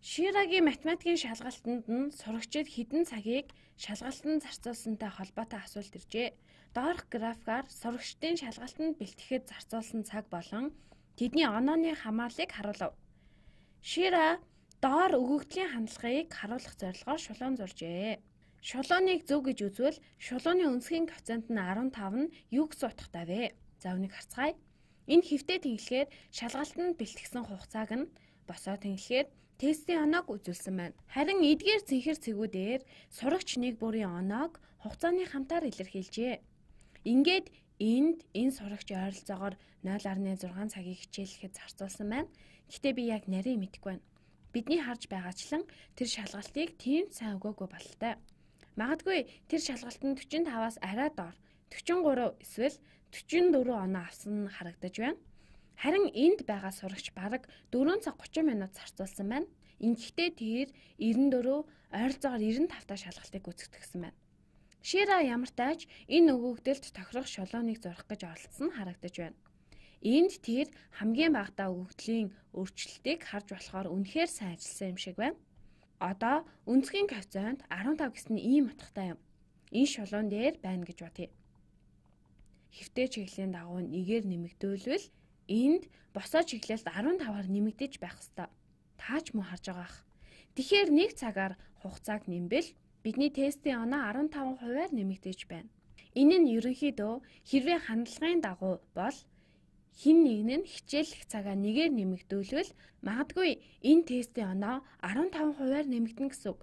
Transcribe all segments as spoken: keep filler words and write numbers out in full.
Ширагийн математикийн шалгалтанд нь сурагчид хэдэн цагийг шалгалтанд зарцуулсантай холбоотой асуулт иржээ. Доорх графикаар сурагчдын шалгалтанд бэлтгэхэд зарцуулсан цаг болон тэдний онооны хамаарлыг харуулв. Шира доор өгөгдлийн хандлагыг харуулах зорилгоор шулуун зуржээ. Шулууныг зөв гэж үзвэл шулууны өнцгийн коэффициент нь арван тав нь юу гэсэн утгатай вэ? За үнийг харцгаая. Энэ хэвтээ тэнхлэхээр шалгалтанд бэлтгэсэн хугацааг нь босоо тэнхлэхээр тестийн оноог үзүүлсэн байна. Харин эдгээр цэнхэр цэгүүдээр сурагч нэг бүрийн оноог хугацааны хамтаар илэрхийлжээ. Ингээд энд энэ сурагч ойролцоогоор нуль гаруй зургаан цагийг хичээллэхэд зарцуулсан байна. Гэхдээ би яг нарийн мэдэхгүй байна. Бидний харж байгаачлан тэр шалгалтыг тийм сайн өгөөгүй бололтой. Магадгүй тэр шалгалтанд45-аас арай доор дөрвөн гурав эсвэл дөрвөн дөрвөн оноо авсан нь харагдаж байна. Харин энд байгаа сурагч бараг дөрвөн цаг гучин минут зарцуулсан байна. Ингэхдээ тэр девяносто дөрвөн ойролцоогоор девяносто тавтай та шалгалтыг гүйцэтгэсэн байна. Шира ямар тааж энэ өгөгдөлд тохирох шулууныг зурах гэж оролдсон нь харагдаж байна. Энд тэр хамгийн багадаа өгөгдлийн өөрчлөлтийг харж болохоор үнэхээр сайн ажилласан юм шиг байна. Одоо өнцгийн коэффициент арван тав гэсэн ийм утгатай юм. Энэ шулуун дээр байна гэж бодъё. Хэвтээ чиглэлийн дагуу нэгээр нэмэгдүүлвэл энд босоо чиглэлд арван таваар нэмэгдэж байх ёстой. Таач муу харж байгаах. Тэгэхээр нэг цагаар хугацааг нэмбэл бидний тестийн оноо арван таван хувиар нэмэгдэж байна. Энэ нь ерөнхийдөө хэрвээ хандлагын дагуу бол хин нэг нь хичээллэх цагаа нэгээр нэмэгдүүлвэл магадгүй энэ тестийн оноо арван таван хувиар нэмэгдэнэ гэсэн үг.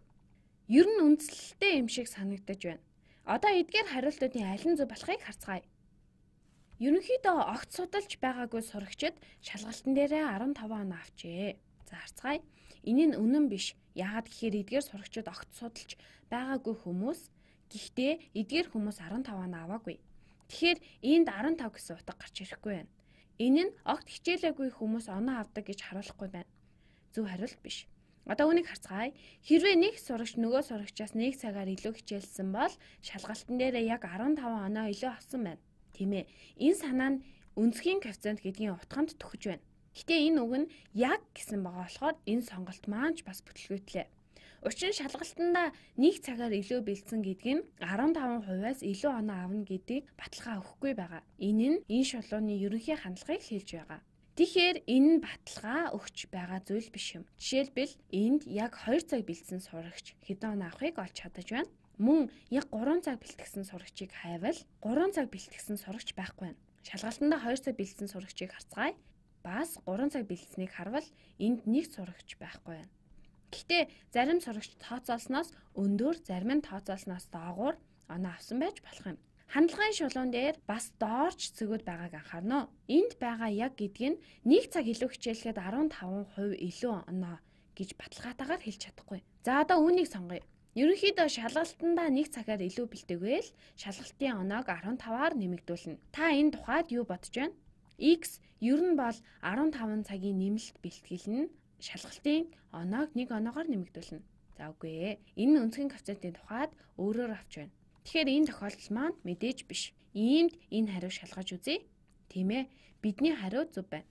Ер нь үндслэлтэй юм шиг санагдаж байна. Одоо эдгээр хариултуудын аль нь зөв болохыг харцгаая. Ерөнхийдөө огт судалж байгаагүй сурагчид шалгалтын дээрээ арван таван оноо авчээ. За харцгаая. Энэ нь үнэн биш. Яагаад гэхээр эдгээр сурагчид огт судалж байгаагүй хүмүүс. Гэхдээ эдгээр хүмүүс арван таван оноо аваагүй. Тэгэхээр энд арван тав гэсэн утга гарч ирэхгүй байна. Энэ нь огт хичээлээгүй хүмүүс оноо авдаг гэж харуулахгүй байна. Зөв хариулт биш. Одоо үнийг харцгаая. Хэрвээ нэг сурагч нөгөө сурагчаас нэг цагаар илүү хичээлсэн бол шалгалтын дээрээ яг арван таван оноо илүү авсан байна. Тийм ээ. Энэ санаа нь өнцгийн коэффициент гэдгийн утганд төхөж байна. Гэтэ энэ үг нь яг гэсэн байгаа болохоор энэ сонголт маань ч бас бүтлгүүтлээ. Учир нь шалгалтандаа нэг цагаар илүү бэлдсэн гэдэг нь арван таван хувиас илүү оноо авна гэдгийг баталгаа өгөхгүй байгаа. Энэ нь энэ шулууны ерөнхий хандлагыг хэлж байгаа. Тэгэхээр энэ нь баталгаа өгч байгаа зүйл биш юм. Жишээлбэл энд яг хоёр цаг бэлдсэн сурагч хэдэн оноо авахыг олж чадаж байна. Мөн яг гурван цаг бэлтгэсэн сурагчийг хайвал гурван цаг бэлтгэсэн сурагч байхгүй байна. Шалгалтандаа хоёр цаг бэлдсэн сурагчийг харцгаая. Бас гурван цаг бэлдсэнийг харвал энд нэг сурагч байхгүй байна. Гэхдээ зарим сурагч тооцоолсноос өндөр, зарим нь тооцоолсноос доогуур оноо авсан байж болох юм. Хандлагын шулуун дээр бас доорч цэгүүд байгааг анхаарна. Энд байгаа яг гэдэг нь нэг цаг илүү хичээлэхэд арван таван хувь илүү оноо гэж баталгаатайгаар хэлж чадахгүй. За одоо үүнийг сонгоё. Ерөнхийдөө шалгалтандаа нэг цагаар илүү бэлтгэвэл шалгалтын оноог арван таваар нэмэгдүүлнэ. Та энэ тухайд юу бодож байна? X ер нь бол арван таван цагийн нэмэлт бэлтгэл нь шалгалтын оноог нэг оноогоор нэмэгдүүлнэ. За үгүй ээ. Энэ өнцгийн коэффициентийн тухайд өөрөөр авч байна. Тэгэхээр энэ тохиолдол маань мэдээж биш. Иймд энэ хариу шалгаж үзье. Тийм ээ. Бидний хариу зөв байна.